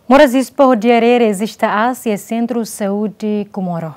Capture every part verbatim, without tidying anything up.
Moras ispa ho diarreia rejista aas iha Sentru Saúde Comoro.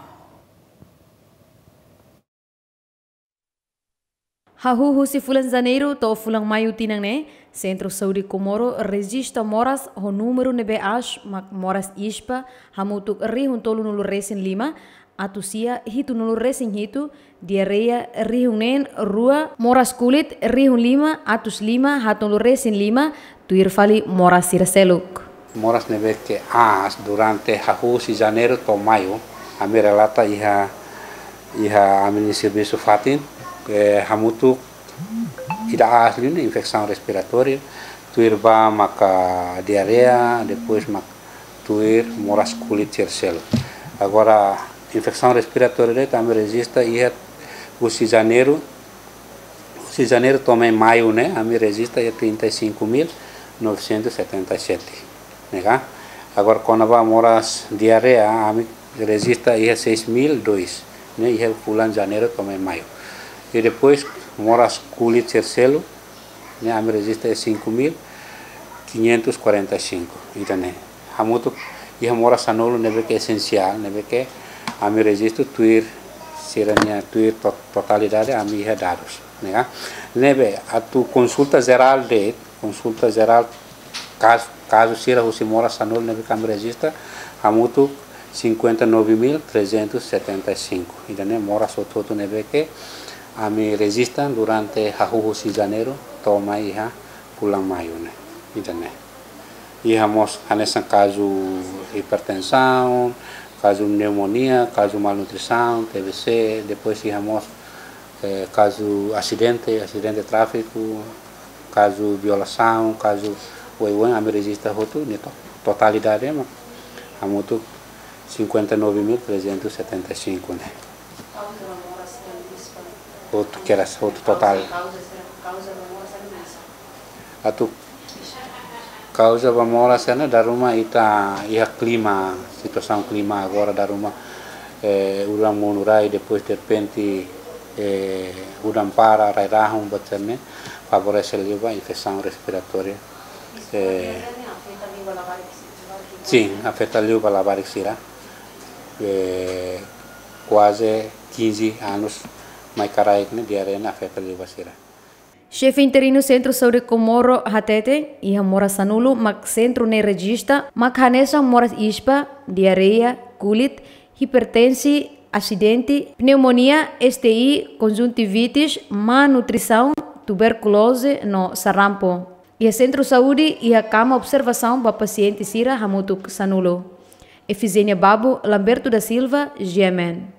Hahú husi fulan Janeiru to'o fulan Maiu tinan ne'e, Sentru Saúde Comoro rejista moras ho númeru ne'ebé aas mak moras ispa hamutuk rihun tolunulu resin lima, atus sia hitunulu resin hitu, diarreia rihun neen rua, moras kulit rihun lima, atus lima haatnulu resin lima, tuir fali moras sira seluk. Moras ne'ebé ke aas durante hahú husi Janeiru to'o Maiu, ami relata iha, iha ami-nia servisu fatin, eh, hamutuk ida aas liu ne'e infesaun respiratória, tuir ba maka diarreia, depois mak tuir moras kulit sira seluk. Agora, infesaun respiratória ne'e ami rejista iha husi Janeiru, husi Janeiru to'o mai Maiu ne'e, ami rejista iha trinta e cinco mil novecentos e setenta e sete, ne'e ka? Agora, kona-ba moras diarreia, ami rejista iha seis mil dois, ne'e iha fulan Janeiru to'o mai Maiu. I depois, moras kulit sira seluk, ne'e ami rejista iha cinco mil quinhentos e quarenta e cinco, ida-ne'e. Hamutuk iha moras sanulu ne'ebé ke esensiál, ne'ebé ke ami rejista tuir sira-nia tuir to-, totalidade ami iha dadus, ne'e ka? Ne'ebé atu konsulta jerál de'it, konsulta jerál kazu, kazu sira husi moras sanulu ne'ebé ke ami rejista, hamutuk cinquenta e nove mil trezentos e setenta e cinco. Ida-ne'e moras hotu-hotu ne'ebé ke ami rejista durante hahú husi Janeiru to'o mai iha fulan Maiu ne'e. Ida-ne'e. Iha mós hanesan kazu hipertensaun, kazu pneumonia, kazu malnutrisaun, T B C, depois iha mós, eh, kazu asidente, asidente tráfiku, kazu violasaun, kazu oioin, ami rejista hotu, ne'e to-, totalidade mak hamutuk cinquenta e nove mil trezentos e setenta e cinco ne'e. Hotu kedas, hotu totál. Atu kauza ba moras sira-ne'e dala ruma ita iha klima, situasaun klima agora dala ruma, eh, udan monu rai, depois derrepente, eh, udan para, rai rahun, buat sira-ne'e favorese liu ba infesaun respiratória. Eh, sin, afeta liu ba labarik sira. Eh, kuaze kinze anus mai karaik ne'e diarreia ne'e afeta liu ba sira. Xefe interinu Sentru Saúde Comoro hateten, iha moras sanulu mak sentru ne'e rejista, mak hanesan moras ispa, diarreia, kulit, hipertensi, asidente, pneumonia, S T I, konjuntivitis, má nutrisaun, tuberkuloze no sarampu. Iha sentru saúde, iha kama observasaun ba pasiente sira hamutuk sanulu. Efigénia Babo, Lamberto da Silva, G M N.